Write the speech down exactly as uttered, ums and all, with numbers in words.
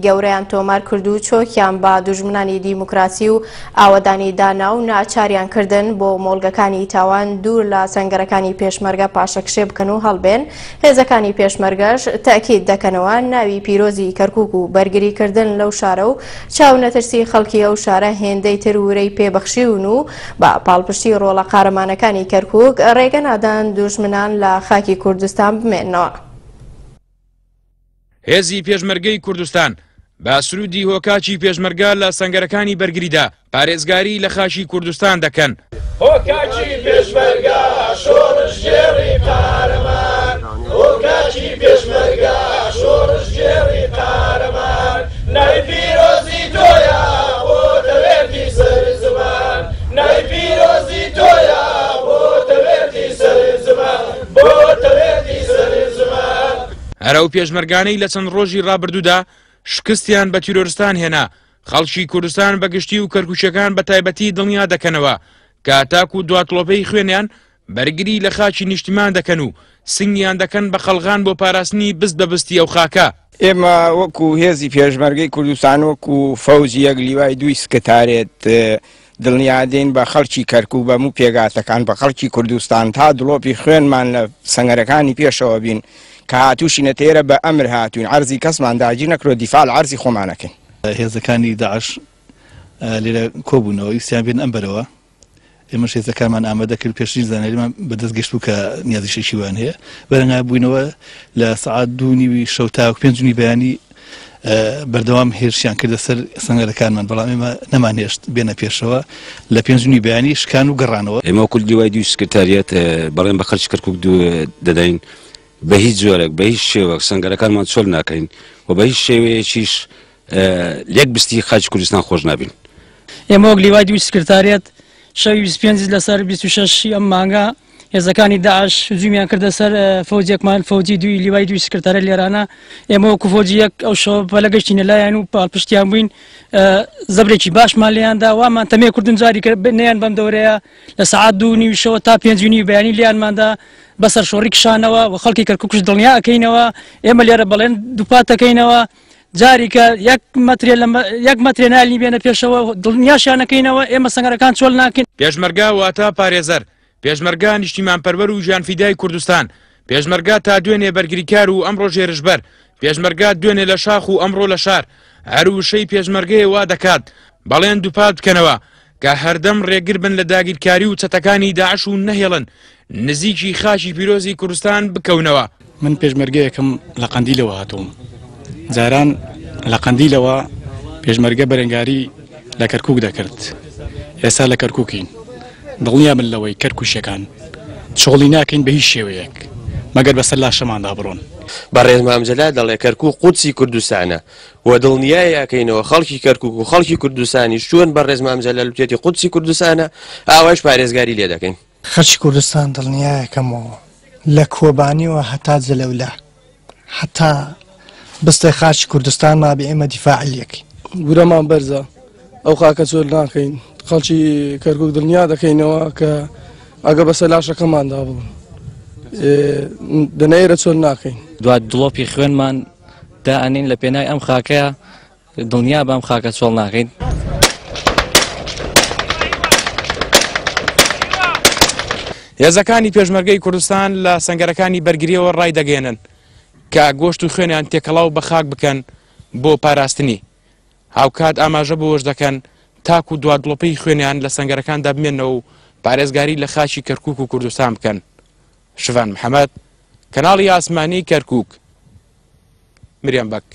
گەورەیان تۆمار کرد و چۆکیان بە دوژمنانی دیموکراسی و ئاوەدانی دانا و ناچاریان کردن بۆ مۆڵگەکانی تاوان دوور لە سەنگەرەکانی پێشمەرگە پاشەکشێ بکەن و هەڵبێن. هێزەکانی پێشمەرگەش تەئکید دەکەنەوە ناوی پیرۆزی کەرکوک و بەرگریکردن لەو شارە و چاونەترسی خەڵکی ئەو شارە هێندەی تر ورەی پێبەخشیون و بە پاڵپشتی ڕۆڵە قارەمانەکانی کەرکوک ڕێگە نادان دوژمنان لە خاکی کوردستان بمێنەوە. هێزی پێشمەرگەی کوردستان بە سرودی هۆکاکی پێشمەرگە لە سەنگەرەکانی بەرگریدا پارێزگاری لە خاکی کوردستان دەکەن. هۆکاکی پێشمەرگە شۆڕشگێڕی قارەمان، هۆکاکی پێشمەرگە شۆڕشگێڕی قارەمان، ناوی پیرۆزی تۆیە بۆ تەوێردی سەر زمان، ناوی پیرۆزی تۆیە بۆ تەوێردی سەر زمان، بۆ تەوێردی سەر زمان. هەر ئەو پێشمەرگانەی لە چەند ڕۆژی ڕابردوودا شکستیان بە تیرۆرستان هێنا، خەڵکی کوردستان بەگشتی و کەرکوچەکان بە تایبەتی دڵنیا دەکەنەوە کە تاکو دواتڵۆپەی خوێنیان بەرگری لە خاکی نیشتیمان دەکەن و سنگیان دەکەن بە قەڵغان بۆ پاراستنی بست بە بستی ئەو خاکە. ئێمە وەکو هێزی پێشمەرگەی کوردستان وەکو فەوجی یەک لیوای دووی سکرتارێت دڵنیادین بە خەڵکی کەرکوک بە موو پێگاتەکان بە خەڵکی کوردستان تا دڵۆپی خوێنمان لە سەنگەرەکانی پێشەوە بین کە هاتووشینە تێرە بە ئەمر هاتوین عەرزی کەسمان داگیر نەکرۆ دیفاع لە عەرزی خۆمانەکەین. هێزەکانی داعش لێرە کۆبوونەوە ویستیان بێن ئەم بەرەوە، ئێمەش هێزەکانمان ئامادە کرد، پێشترین زانیاریمان بەدەست گەشت بوو کە نیازیشێکی وان هەیە. بەرەنگار بووینەوە لە سەعات دوو نیوی شەو تاوەکو پێنج نیوی بەیانی بەردەوام هێرشیان کردە سەر سەنگەرەکانمان، بەڵام ئێمە نەمانهێشت بێنە پێشەوە. لە پێنج نیوی بەیانی شکان و گەڕانەوە. ئێمە وەکو لیوای دووی سکرتاریەت بەڵێن بە خەڵکی کەرکوک دەدەین بە هیچ جۆرێک بە هیچ شێوەک سەنگەرەکانمان چۆل ناکەین و بە هیچ شێوەیەکیش لێک بستی خاکی کوردستان خۆش نابین. ئێمە وەک لیوای دووی سکرتاریەت شەوی بیست پێنج لەسەر بیست و شەش ئەم مانگە هێزەکانی داعش هجومیان کردە سەر فەوجێکمان، فەوجی دووی لیوای دووی سکرتارە لێرانە. ئێمە وەکو فەوجی یەک ئەو شەوە پەلە گەشتینە لایەن و پاڵپشتیان بووین، زەبرێکی باشمان لێیاندا، وامان تەمێ کردن جاری نەیان بەم دەورەیە لە سەعات دوو نیوی شەوە تا پێنج نیوی بەیانی لێیانماندا بەسەر شۆڕی کشانەوە و خەڵکی کەرکوکش دڵنیا ئەکەینەوە. ئێمە لێرە بەڵێن دووپات دەکەینەوە جاریکە یەک مەترێ یەک مەترێ نالنی بێنە پێشەوە دڵنیاشیانەکەینەوە. ئێمە سەنگەرەکان چۆل ناکەین. پێشمەرگە واتە پارێزەر، پێشمەرگە نیشتیمانپەروەر و ژیانفیدای کوردستان، پێشمەرگە تا دوێنێ بەرگریکار و ئەمڕۆ هێرشبەر، پێشمەرگە دوێنێ لە شاخ و ئەمڕۆ لە شار. هەر وشەی پێشمەرگەیە وا دەکات بەڵێن دووپات بکەنەوە کە هەردەم ڕێگر بن لە داگیرکاری و چەتەکانی داعش و نەهێڵن نزیکی خاکی پیرۆزی کوردستان بکەونەوە. من پێشمەرگەیەکم لە قەندیلەوە هاتووم. جاران لە قەندیلەوە پێشمەرگە بەرەنگاری لە کەرکوک دەکرد، ئێستا لە کەرکوکین. دڵنیا من لەوەی کەرکوشیەکان چۆڵی ناکەین بە هیچ شێوەیەک مەگەر بەسەر لاشەماندا بڕۆن. بەڕێز مام جەلال دەڵێ کەرکوک قودسی کوردستانە و دڵنیای ئەکەینەوە خەڵکی کەرکوک و خەڵکی کوردستانیش چۆن بەڕێز مام جەلال وتێتی قودسی کوردستانە ئاوایش پارێزگاری لێ دەکەین. خەڵکی کوردستان دڵنیایەکەمەوە لە کۆبانیەوە هەتا جەلەولا هەتا بستێ خاکی کوردستان مابێ ئێمە دیفاعی لێکەین. ورەمان بەرزە ئەو خاکە چۆل ناکەین، خەڵکی کەرکوک دڵنیا دەکەینەوە کە ئەگە بەسەر لاشەکەماندا بوون دەنەیرە چۆل ناکەین. دوات دڵۆپی خوێنمان دائەنین لە پێنای ئەم خاکەیە، دڵنیا بەم خاکە چۆڵ ناکەین. هێزەکانی پێشمەرگەی کوردستان لە سەنگەرەکانی بەرگریەوە ڕای دەگەێنن کە گۆشت و خوێنیان تێکەڵاو بە خاک بکەن بۆ پاراستنی. هاوکات ئاماژە بۆش دەکەن تاکو دوادڵۆپەی خوێنیان لە سەنگەرەکاندا بمێنەوە و پارێزگاری لە خاکی کەرکوک و کوردستان بکەن. شڤان محەممەد، کەناڵی ئاسمانی کەرکوک، مریەم بەک.